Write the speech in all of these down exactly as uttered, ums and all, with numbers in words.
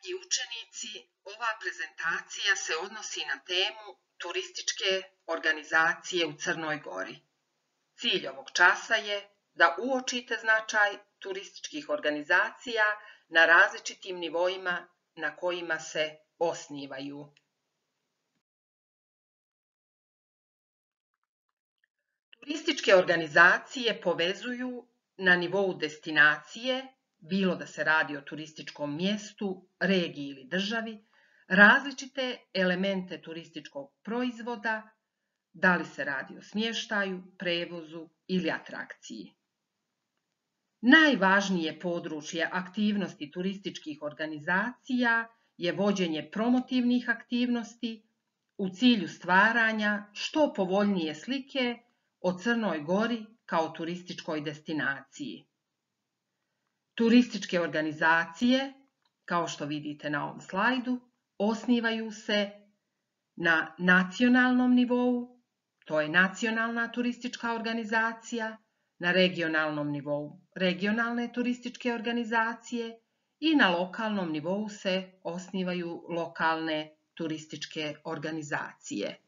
Dragi učenici, ova prezentacija se odnosi na temu turističke organizacije u Crnoj Gori. Cilj ovog časa je da uočite značaj turističkih organizacija na različitim nivoima na kojima se osnivaju. Turističke organizacije povezuju na nivou destinacije, bilo da se radi o turističkom mjestu, regiji ili državi, različite elemente turističkog proizvoda, da li se radi o smještaju, prevozu ili atrakciji. Najvažnije područje aktivnosti turističkih organizacija je vođenje promotivnih aktivnosti u cilju stvaranja što povoljnije slike o Crnoj Gori kao turističkoj destinaciji. Turističke organizacije, kao što vidite na ovom slajdu, osnivaju se na nacionalnom nivou, to je nacionalna turistička organizacija, na regionalnom nivou regionalne turističke organizacije i na lokalnom nivou se osnivaju lokalne turističke organizacije.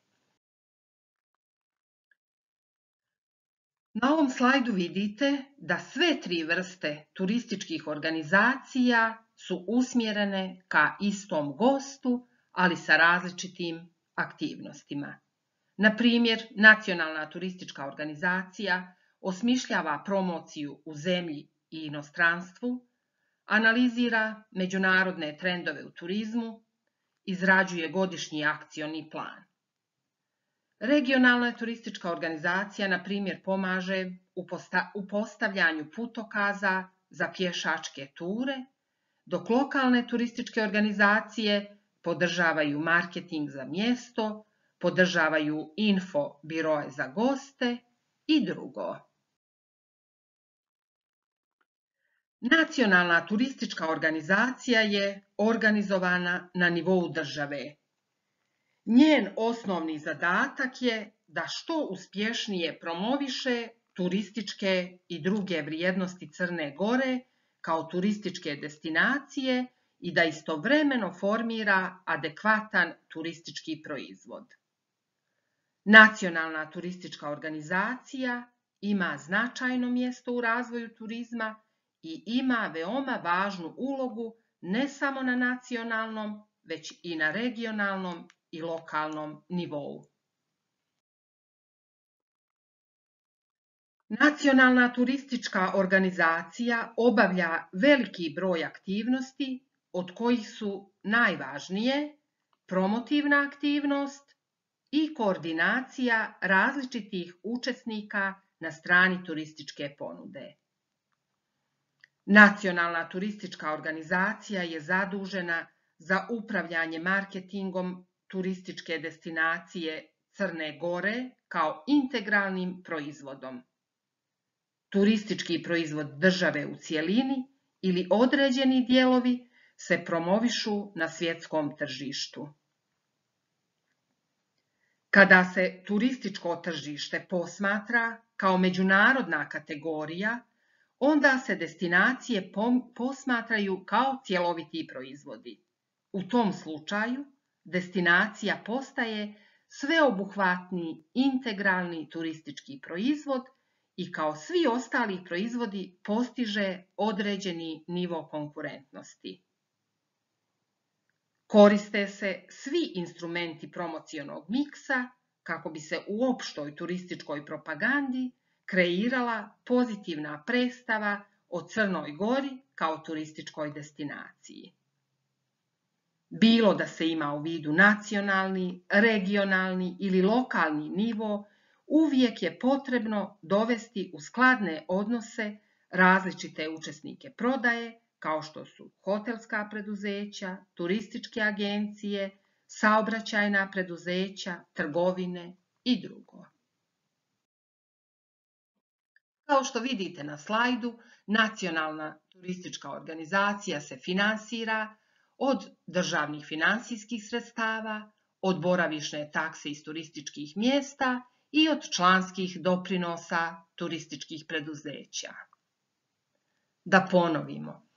Na ovom slajdu vidite da sve tri vrste turističkih organizacija su usmjerene ka istom gostu, ali sa različitim aktivnostima. Na primjer, nacionalna turistička organizacija osmišljava promociju u zemlji i inostranstvu, analizira međunarodne trendove u turizmu, izrađuje godišnji akcioni plan. Regionalna turistička organizacija, na primjer, pomaže u postavljanju putokaza za pješačke ture, dok lokalne turističke organizacije podržavaju marketing za mjesto, podržavaju info biroe za goste i drugo. Nacionalna turistička organizacija je organizovana na nivou države. Njen osnovni zadatak je da što uspješnije promoviše turističke i druge vrijednosti Crne Gore kao turističke destinacije i da istovremeno formira adekvatan turistički proizvod. Nacionalna turistička organizacija ima značajno mjesto u razvoju turizma i ima veoma važnu ulogu ne samo na nacionalnom, već i na regionalnom i lokalnom nivou. Nacionalna turistička organizacija obavlja veliki broj aktivnosti, od kojih su najvažnije promotivna aktivnost i koordinacija različitih učesnika na strani turističke ponude. Nacionalna turistička organizacija je zadužena za upravljanje marketingom turističke destinacije Crne Gore kao integralnim proizvodom. Turistički proizvod države u cjelini ili određeni dijelovi se promovišu na svjetskom tržištu. Kada se turističko tržište posmatra kao međunarodna kategorija, onda se destinacije posmatraju kao cjeloviti proizvodi. U tom slučaju, destinacija postaje sveobuhvatni integralni turistički proizvod i kao svi ostali proizvodi postiže određeni nivo konkurentnosti. Koriste se svi instrumenti promocionog miksa kako bi se u opštoj turističkoj propagandi kreirala pozitivna predstava o Crnoj Gori kao turističkoj destinaciji. Bilo da se ima u vidu nacionalni, regionalni ili lokalni nivo, uvijek je potrebno dovesti u skladne odnose različite učesnike prodaje, kao što su hotelska preduzeća, turističke agencije, saobraćajna preduzeća, trgovine i drugo. Kao što vidite na slajdu, nacionalna turistička organizacija se finansira od državnih finansijskih sredstava, od boravišne takse iz turističkih mjesta i od članskih doprinosa turističkih preduzeća. Da ponovimo,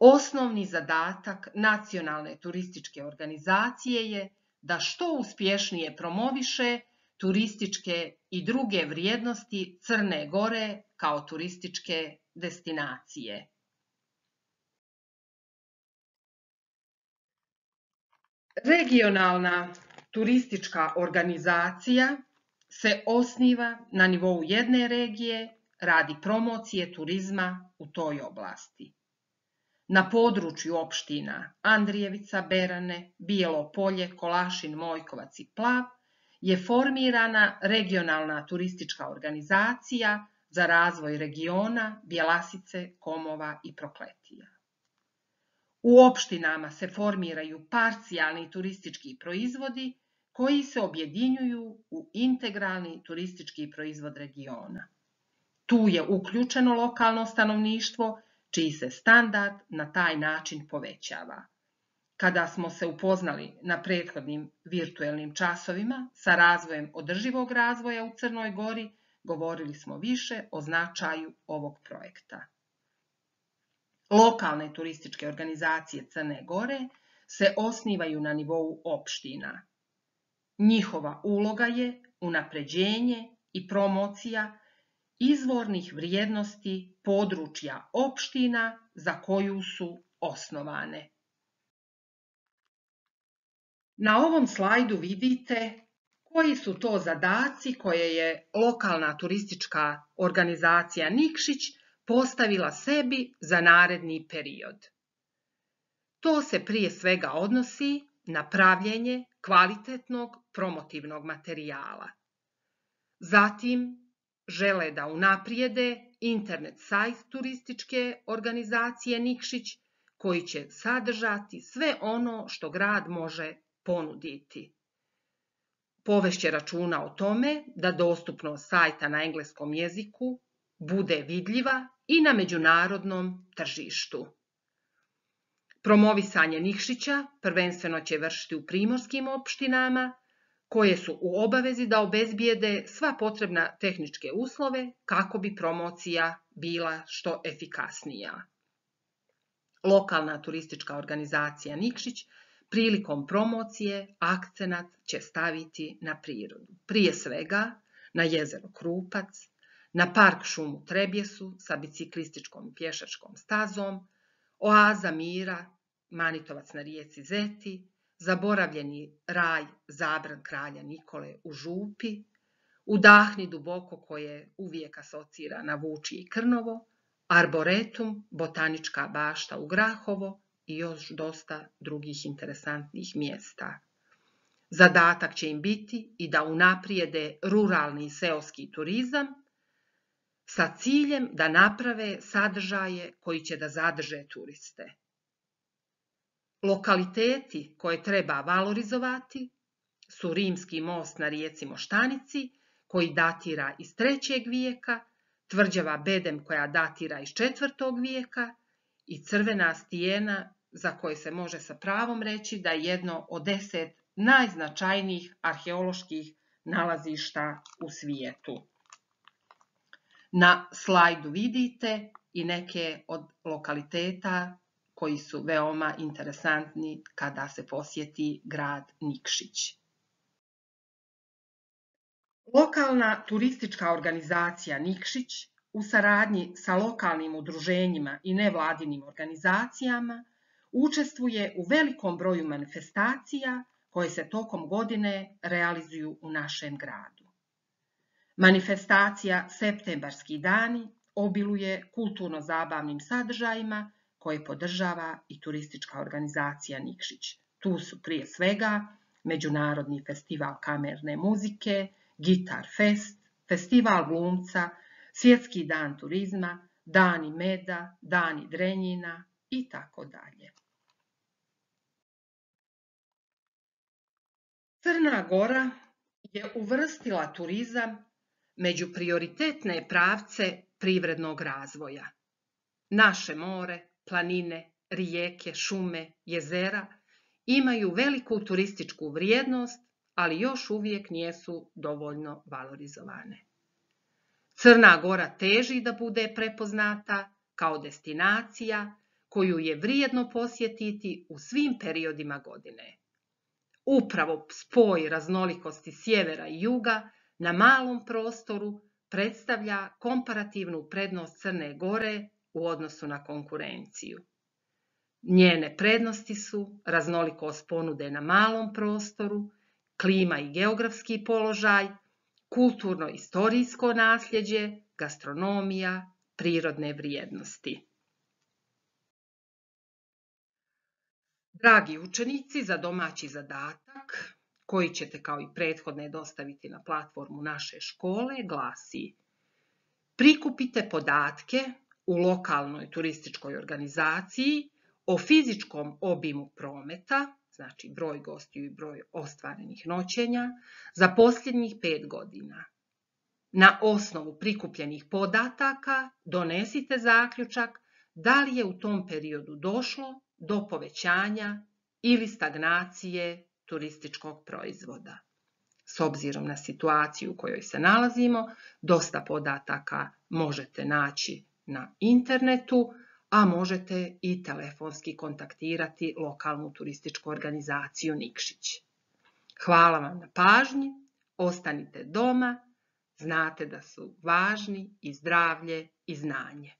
Osnovni zadatak nacionalne turističke organizacije je da što uspješnije promoviše turističke i druge vrijednosti Crne Gore kao turističke destinacije. Regionalna turistička organizacija se osniva na nivou jedne regije radi promocije turizma u toj oblasti. Na području opština Andrijevica, Berane, Bijelo Polje, Kolašin, Mojkovac i Plav je formirana regionalna turistička organizacija za razvoj regiona Bjelasice, Komova i Prokletija. U opštinama se formiraju parcijalni turistički proizvodi koji se objedinjuju u integralni turistički proizvod regiona. Tu je uključeno lokalno stanovništvo, čiji se standard na taj način povećava. Kada smo se upoznali na prethodnim virtuelnim časovima sa razvojem održivog razvoja u Crnoj Gori, govorili smo više o značaju ovog projekta. Lokalne turističke organizacije Crne Gore se osnivaju na nivou opština. Njihova uloga je unapređenje i promocija izvornih vrijednosti područja opština za koju su osnovane. Na ovom slajdu vidite koji su to zadaci koje je lokalna turistička organizacija Nikšić postavila sebi za naredni period. To se prije svega odnosi na pravljenje kvalitetnog promotivnog materijala. Zatim, žele da unaprijede internet sajt turističke organizacije Nikšić, koji će sadržati sve ono što grad može ponuditi. Povešće računa o tome da dostupnost sajta na engleskom jeziku bude vidljiva i na međunarodnom tržištu. Promovisanje Nikšića prvenstveno će vršiti u primorskim opštinama, koje su u obavezi da obezbijede sva potrebna tehničke uslove kako bi promocija bila što efikasnija. Lokalna turistička organizacija Nikšić prilikom promocije akcenat će staviti na prirodu. Prije svega na jezero Krupac, na park šumu Trebjesu sa biciklističkom i pješačkom stazom, oaza mira Manitovac na rijeci Zeti, zaboravljeni raj Zabran kralja Nikole u Župi, Udahni duboko koje uvijek asocira na Vučije i Krnovo, Arboretum, botanička bašta u Grahovo i još dosta drugih interesantnih mjesta. Zadatak će im biti i da unaprijede ruralni i seoski turizam sa ciljem da naprave sadržaje koji će da zadrže turiste. Lokaliteti koje treba valorizovati su Rimski most na rijeci Moštanici, koji datira iz trećeg vijeka, tvrđava Bedem koja datira iz četvrtog vijeka i Crvena stijena za koje se može sa pravom reći da je jedno od deset najznačajnijih arheoloških nalazišta u svijetu. Na slajdu vidite i neke od lokaliteta koji su veoma interesantni kada se posjeti grad Nikšić. Lokalna turistička organizacija Nikšić u saradnji sa lokalnim udruženjima i nevladinim organizacijama učestvuje u velikom broju manifestacija koje se tokom godine realizuju u našem gradu. Manifestacija Septembarski dani obiluje kulturno-zabavnim sadržajima koje podržava i turistička organizacija Nikšić. Tu su prije svega Međunarodni festival kamerne muzike, Gitar Fest, Festival glumca, Svjetski dan turizma, Dani meda, Dani Drenjina i tako dalje. Crna Gora je uvrstila turizam među prioritetne pravce privrednog razvoja. Naše more, planine, rijeke, šume, jezera imaju veliku turističku vrijednost, ali još uvijek nisu dovoljno valorizovane. Crna Gora teži da bude prepoznata kao destinacija koju je vrijedno posjetiti u svim periodima godine. Upravo spoj raznolikosti sjevera i juga na malom prostoru predstavlja komparativnu prednost Crne Gore u odnosu na konkurenciju. Njene prednosti su raznolikost ponude na malom prostoru, klima i geografski položaj, kulturno-istorijsko nasljeđe, gastronomija, prirodne vrijednosti. Dragi učenici, za domaći zadatak, koji ćete kao i prethodne dostaviti na platformu naše škole, glasi: prikupite podatke u lokalnoj turističkoj organizaciji o fizičkom obimu prometa, znači broj gostiju i broj ostvarenih noćenja, za posljednjih pet godina. Na osnovu prikupljenih podataka donesite zaključak da li je u tom periodu došlo do povećanja ili stagnacije turističkog proizvoda. S obzirom na situaciju u kojoj se nalazimo, dosta podataka možete naći na internetu, a možete i telefonski kontaktirati lokalnu turističku organizaciju Nikšić. Hvala vam na pažnji, ostanite doma, znate da su važni i zdravlje i znanje.